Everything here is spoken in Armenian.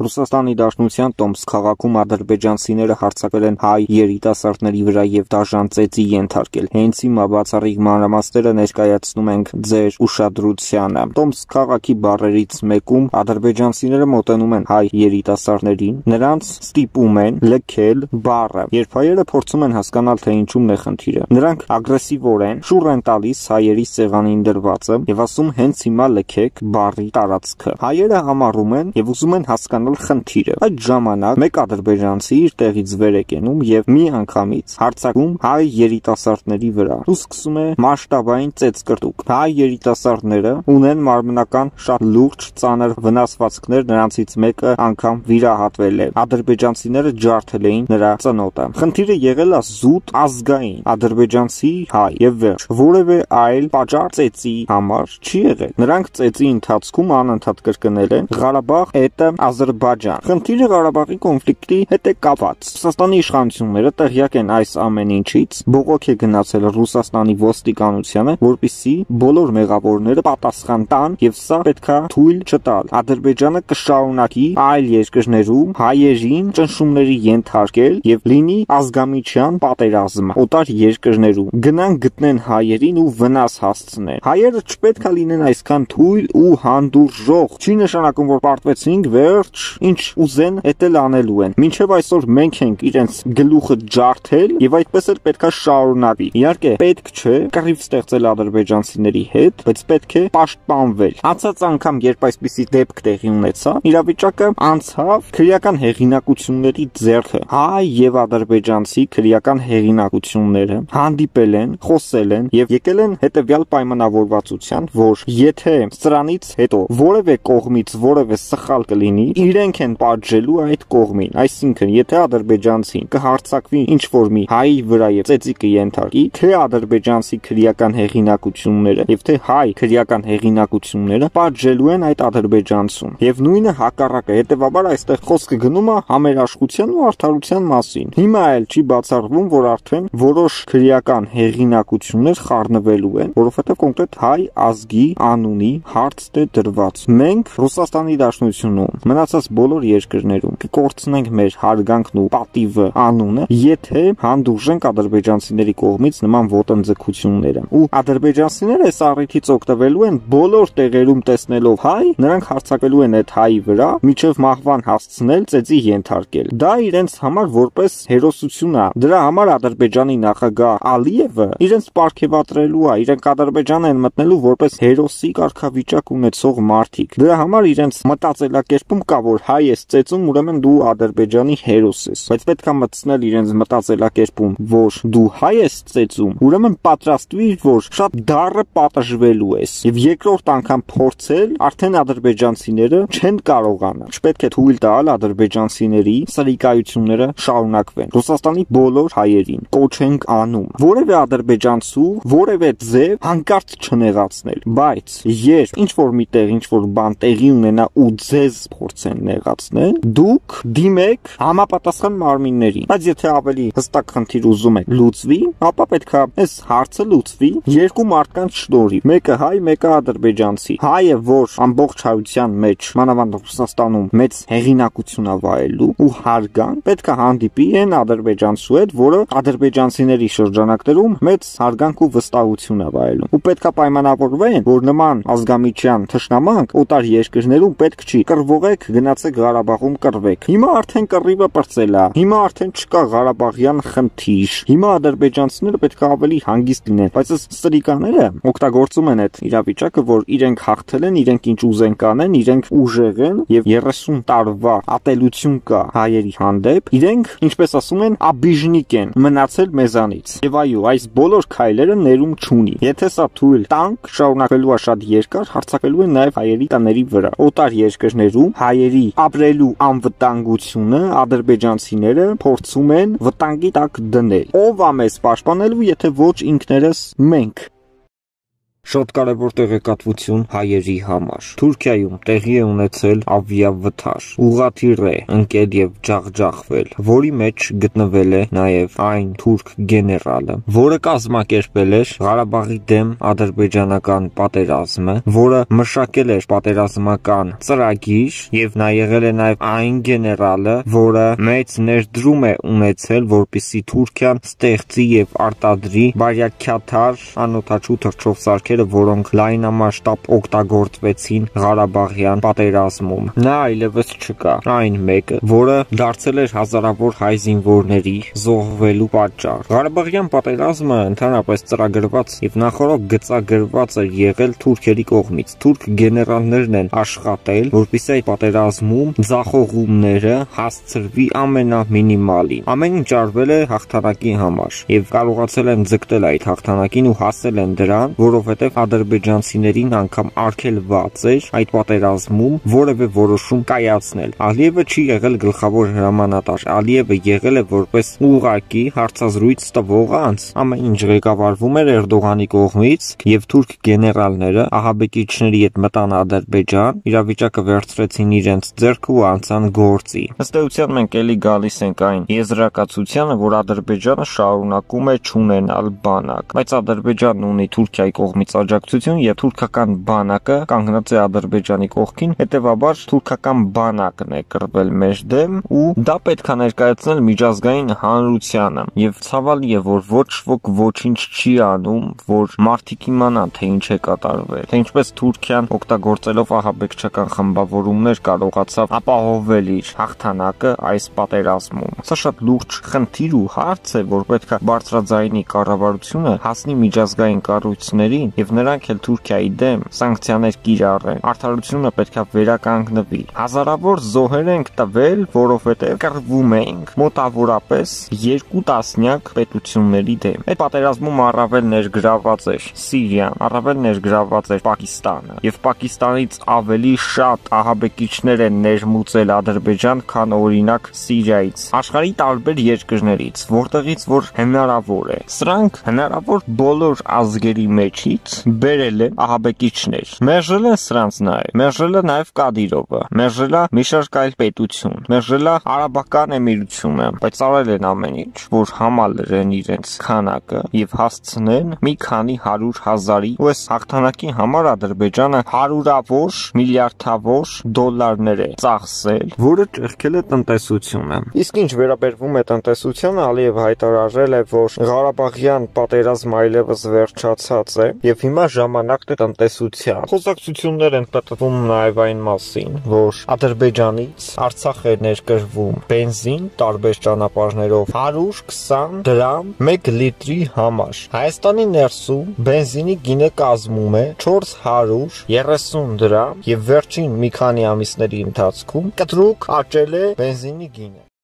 Ռուսաստանի Դաշնության Տոմսկ քաղաքում ադրբեջանցիները հարձակվել են հայ երիտասարդների վրա եւ դաժան ծեծի ենթարկել։ Հենց հիմա բացառիկ մանրամասները ներկայացնում ենք ձեր ուշադրությանը։ Տոմսկ քաղաքի բարերից մեկում ադրբեջանցիները մոտենում են հայ երիտասարդներին, նրանց ստիպում են լքել բառը։ Երբ հայերը փորձում են հասկանալ, թե ինչումն է խնդիրը, նրանք ագրեսիվորեն շուռ են տալիս հայերի սեղանին դրվածը եւ ասում հենց հիմա լքեք բառի տարածքը։ Հայերը համառում են եւ ուզում են հասկանալ խնդիրը։ Այդ ժամանակ մեկ ադրբեջանցի իր տեղից վեր է կենում եւ մի անգամից հարձակում հայ երիտասարդների վրա ու սկսում է մասշտաբային ծեծկռտուք։ Հայ երիտասարդները ունեն մարմնական շատ լուրջ ծանր վնասվածքներ, նրանցից մեկը անգամ վիրահատվել է։ Ադրբեջանցիները ջարդել էին նրա ծնոտը։ Խնդիրը եղել է զուտ ազգային ադրբեջանցի հայ եւ վերջ որևէ այլ պատճառ ծեծի համար չի եղել։ Նրանք ծեծի ընթացքում անընդհատ կրկնել են Ղարաբաղ էտը Ադրբեջան։ Խնդիրը Ղարաբաղի կոնֆլիկտի հետ է կապված։ Ռուսաստանի իշխանությունները տեղյակ են այս ամեն ինչից, բողոք է գնացել Ռուսաստանի ոստիկանությանը, որպեսզի բոլոր մեղավորները պատասխան տան եւ սա պետքա թույլ չտալ։ Ադրբեջանը կշարունակի այլ երկրներում հայերին ճնշումների ենթարկել եւ լինի ազգամիջյան պատերազմ օտար երկրներում։ Գնան գտնեն հայերին ու վնաս հասցնեն։ Հայերը չպետք է լինեն այսքան թույլ ու հանդուրժող։ Չի նշանակում, որ պարտվեցինք, վերջ, ինչ ուզեն, էդ էլ անելու են։ Մինչև այսօր մենք ենք իրենց գլուխը ջարդել եւ այդպես էլ պետքա շարունակվի։ Իհարկե, պետք չէ կռիվ ստեղծել ադրբեջանցիների հետ, բայց պետք է պաշտպանվել։ Անցած անգամ, երբ այսպիսի դեպք տեղի ունեցա, իրավիճակը անցավ քրեական հեղինակությունների ձեռքը։ Հայ եւ ադրբեջանցի քրեական հեղինակությունները հանդիպել են, խոսել են եւ եկել են հետեւյալ պայմանավորվածության, որ եթե սրանից հետո որևէ կողմից որևէ սխալ կլինի, իրենք են պատժելու այդ կողմին։ Այսինքն, եթե ադրբեջանցին կհարձակվի ինչ-որ մի հայի վրա եւ ծեծի կենթարկի, թե ադրբեջանցի քրեական հեղինակությունները եւ թե հայ քրեական հեղինակությունները պատժելու են այդ ադրբեջանցուն։ Եվ նույնը հակառակը, հետեւաբար այստեղ խոսքը գնում է համերաշխության ու արդարության մասին։ Հիմա էլ չի բացառվում, որ արդեն որոշ քրեական հեղինակություններ խառնվելու են, որովհետեւ կոնկրետ հայ ազգի անունի հարց է դրված։ Մենք Ռուսաստանի Դաշնությունում, մնացած բոլոր երկրներում կկորցնենք մեր հարգանքն ու պատիվը, անունը, եթե հանդուրժենք ադրբեջանցիների կողմից նման ոտնձգությունները։ Ու ադրբեջանցիները այս առիթից օգտվելու են բոլոր տեղերում տեսնելով հայ, նրանք հարձակվելու են այդ հայի վրա, միջև մահվան հասցնել, ծեծի ենթարկել։ Դա իրենց համար որպես հերոսություն է։ Դրա համար Ադրբեջանի նախագահ Ալիևը իրենց պարգևատրելու է, իրենք Ադրբեջան են մտնելու որպես հերոսի կարգավիճակ ունեցող մարդիկ։ Դրա համար իրենց մտածելակերպում կա, որ հայ ես ծեծում, ուրեմն դու Ադրբեջանի հերոս ես։ Բայց պետք է մտցնել իրենց մտածելակերպում, որ դու հայ ես ծեծում, ուրեմն պատրաստվիր, որ շատ դառը պատժվելու ես։ Եվ երկրորդ անգամ փորձել, արդեն ադրբեջանցիները չեն կարողանա։ Չպետք է թույլ տալ ադրբեջանցիների սրիկայությունները շարունակվեն։ Ռուսաստանի բոլոր հայերին կոչ ենք անում որևէ ադրբեջանցու որևէ ձև հանկարծ չնեղացնել։ Բայց երբ ինչ-որ միտեղ ինչ-որ բան տեղի ունենա ու ձեզ փորձեն նեղացնել, դուք դիմեք համապատասխան մարմիններին։ Բայց եթե ավելի հստակ խնդիր ուզում եք լուծվի, ապա պետք է այս հարցը լուծվի երկու մարդկանց շնորհիվ։ Մեկը հայ, մեկը ադրբեջանցի։ Հայը, որ ամբողջ հայության մեջ, մանավանդ Ռուսաստանում մեծ հեղինակություն է վայելում ու հարգանք, պետք է հանդիպի այն ադրբեջանցու հետ, որը ադրբեջանցիների շրջանակներում մեծ հարգանք ու վստահություն է վայելում։ Ու պետք է պայմանավորվեն, որ նման ազգամիջյան թշնամանք օտար երկրներում պետք չի։ Կռվողեք, գնացեք Ղարաբաղում կռվեք։ Հիմա արդեն կռիվը պրծել է։ Հիմա արդեն չկա Ղարաբաղյան խնդիր։ Հիմա ադրբեջանցիները պետք է ավելի հանգիստ լինեն, բայց այս սրիկաները օգտագործում են այդ իրավիճակը, որ իրենք հաղթել են, իրենք ինչ ուզեն կանեն, իրենք ուժեղ են եւ 30 տարվա ատելություն կա հայերի հանդեպ։ Իրենք, ինչպես ասում են, աբիժնիկ են, մնացել մեզանից։ Եվ այո, այս բոլոր քայլերը ներում չունի։ Եթե սա թույլ տանք, շարունակվելու է շատ երկար, հարձակվելու են նաեւ հայերի տների վրա։ Օտար երկրներում հայերի ապրելու անվտանգությունը ադրբեջանցիները փորձում են վտանգի տակ դնել։ Ով է մեզ պաշտպանելու, եթե ոչ ինքներս մենք։ Շատ կարևոր տեղեկատվություն հայերի համար։ Թուրքիայում տեղի է ունեցել ավիավթար, ուղղաթիռ է ընկել եւ ջախջախվել, որի մեջ գտնվել է նաեւ այն թուրք գեներալը, որը կազմակերպել էր Ղարաբաղի դեմ ադրբեջանական պատերազմը, որը մշակել էր պատերազմական ծրագիր եւ նա եղել է նաեւ այն գեներալը, որը մեծ ներդրում է ունեցել, որպեսզի Թուրքիան ստեղծի եւ արտադրի բարյակյաթար անօդաչու թռչող որոնք լայնամասշտաբ օգտագործվեցին Ղարաբաղյան պատերազմում։ Նա այլևս չկա, այն մեկը, որը դարձել էր հազարավոր հայ զինվորների զոհվելու պատճառ։ Ղարաբաղյան պատերազմը ընդհանրապես ծրագրված եւ նախորդ գծագրված էր եղել թուրքերի կողմից։ Թուրք գեներալներն են աշխատել, որպեսզի այդ պատերազմում ձախողումները հասցրվի ամենամինիմալին։ Ամեն ինչ արվել է հաղթանակի համար եւ կարողացել են ձգտել այդ հաղթանակին ու հասել են դրան, որովհետեւ ադրբեջանցիներին անգամ արգելված էր այդ պատերազմում որևէ որոշում կայացնել։ Ալիևը չի եղել գլխավոր հրամանատար, Ալիևը եղել է որպես ուղղակի հարցազրույց տվող անձ։ Ամեն ինչ ղեկավարվում էր Էրդողանի կողմից եւ թուրք գեներալները ահաբեկիչների հետ մտան Ադրբեջան, իրավիճակը վերցրեցին իրենց ձեռքը ու անցան գործի։ Ըստ էության մենք էլի գալիս ենք այն եզրակացությանը, որ Ադրբեջանը շարունակում է չունենալ բանակ, բայց Ադրբեջանն ունի Թուրքիայի կողմից աջակցություն եւ թուրքական բանակը կանգնած է Ադրբեջանի կողքին, հետեւաբար թուրքական բանակն է կռվել մեր դեմ ու դա պետք է ներկայացնել միջազգային հանրությանը եւ ցավալի է, որ ոչ ոք ոչինչ չի անում, որ մարդիկ իմանան, թե ինչ է կատարվել, թե ինչպես Թուրքիան օգտագործելով ահաբեկչական խմբավորումներ կարողացավ ապահովել իր հաղթանակը այս պատերազմում։ Սա շատ լուրջ խնդիր ու հարց է, որ պետք է բարձրաձայնի կառավարությունը հասնի միջազգային կառույցներին եւ նրանք էլ Թուրքիայի դեմ սանկցիաներ կիրառեն։ Արդարությունը պետք է վերականգնվի։ Հազարավոր զոհեր ենք տվել, որովհետեւ կռվում ենք մոտավորապես 2 տասնյակ պետությունների դեմ։ Այդ պատերազմում առավել ներգրաված էր Սիրիան, առավել ներգրաված էր Պակիստանը եւ Պակիստանից ավելի շատ ահաբեկիչներ են ներմուծել Ադրբեջան, քան օրինակ Սիրիայից, աշխարհի տարբեր երկրներից, որտեղից որ հնարավոր է։ Սրանք հնարավոր բոլոր ազգերի մեջից բերել են ահաբեկիչներ։ Մերժել են սրանց նաև։ Մերժել է նաև Կադիրովը, մերժել է մի շարք այլ պետություն, մերժել է Արաբական Էմիրությունը, բայց արել են ամեն ինչ, որ համալրեն իրենց քանակը եւ հասցնեն մի քանի 100,000-ի ու այս հաղթանակի համար Ադրբեջանը հարյուրավոր միլիարդավոր դոլարներ է ծախսել, որը ճեղքել է տնտեսությունը։ Իսկ ինչ վերաբերվում է տնտեսությանը, Ալիևը հայտարարել է, որ Ղարաբաղյան պատերազմը այլևս վերջացած է եւ հիմա ժամանակն է տնտեսության։ Խոսակցություններ են պատվում նաեւ այն մասին, որ Ադրբեջանից Արցախ է ներկրվում բենզին տարբեր ճանապարհներով 120 դրամ 1 լիտրի համար։ Հայաստանի ներսում բենզինի գինը կազմում է 430 դրամ եւ վերջին մի քանի ամիսների ընթացքում կտրուկ աճել է բենզինի գինը։